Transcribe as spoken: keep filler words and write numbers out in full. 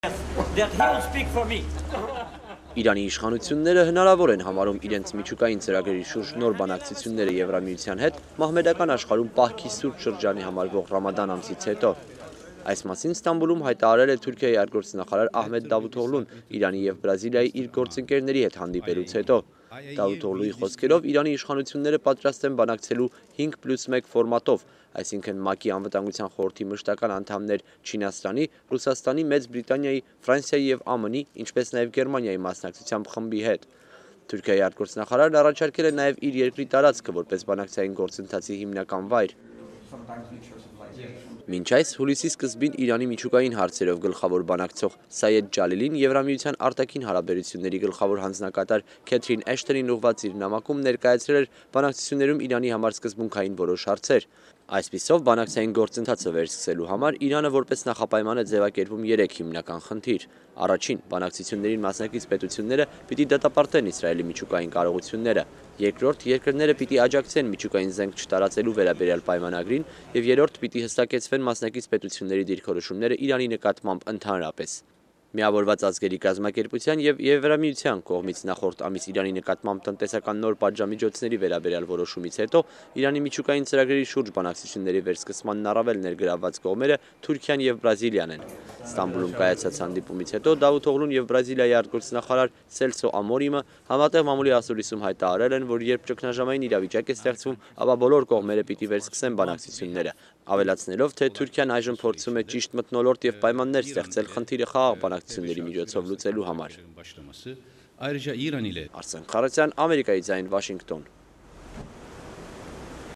that he will speak for me. Իրանի իշխանությունները հնարավոր են համարում իրենց միջուկային ծրագրերի շուրջ նոր բանակցությունները Եվրամիության հետ մահմեդական աշխարհում պահքի սուրբ շրջանի համարվող Ռամադան ամսից հետո։ Այս մասին Ստամբուլում հայտարարել է Թուրքիայի արտգործնախարար Ահմեդ Դավութօղլուն Իրանի եւ Բրազիլիայի իր գործընկերների հետ հանդիպելուց հետո։ Դավութօղլուի խոսքերով Իրանի իշխանությունները պատրաստ են բանակցելու հինգ պլյուս մեկ ֆորմատով, այսինքն ՄԱԿ-ի անվտանգության խորհրդի մշտական անդամներ Չինաստանի, Ռուսաստանի, Մեծ Բրիտանիայի, Ֆրանսիայի եւ ԱՄՆ-ի, ինչպես նաեւ Գերմանիայի մասնակցությամբ խմբի հետ։ Թուրքիայի արտգործնախարարն առաջարկել է նաեւ իր երկրի տարածքը որպես բանակցային գործընթացի հիմնական վայր։ Մինչ այս հուլիսի սկզբին Իրանի միջուկային հարցերով գլխավոր բանակցող Սայեդ Ջալիլին Եվրամիության արտաքին հարաբերությունների գլխավոր հանձնակատար Քեթրին Էշթոնին ուղղված իր նամակում ներկայացրել էր բանակցություններում Իրանի համար սկզբունքային որոշ հարցեր։ Այսպիսով բանակցային գործընթացը վերսկսելու համար Իրանը որպես նախապայման է ձևակերպում երեք հիմնական խնդիր։ Առաջին, բանակցություններին մասնակից պետությունները պիտի դատապարտեն Իսրայելի միջուկային կարողությունները։ Երկրորդ, երկրները պիտի աջակցեն միջուկային զենք չտարածելու վերաբերյալ պայմանագրին եւ երրորդ պիտի հստակեցվեն մասնակից պետությունների դիրքորոշումները Իրանի նկատմամբ ընդհանրապես։ Միավորված ազգերի կազմակերպության եւ Եվրամիության կողմից նախորդ ամիս Իրանի նկատմամբ տնտեսական նոր պատժամիջոցների վերաբերյալ որոշումից հետո Իրանի միջուկային ծրագրերի շուրջ բանակցությունների վերսկսմանն առավել ներգրավված կողմերը Թուրքիան եւ Բրազիլիան են։ Ստամբուլում կայացած հանդիպումից հետո Դավութօղլուն եւ Բրազիլիայի արտգործնախարար Սելսո Ամորիմը համատեղ մամուլի ասուլիսում հայտարարել են, որ երբ ճգնաժամային իրավիճակ է ստեղծվում, ապա բոլոր կողմերը պիտի վերսկսեն բանակցությունները, ավելացնելով, թե Թուրքիան այժմ փորձում է ճիշտ մթնոլորտ եւ պայմաններ ստեղծել խնդիրը խաղաղ բանակցությունների միջոցով լուծելու համար։ Արսեն Խարատյան, Ամերիկայի ձայն, Վաշինգտոն։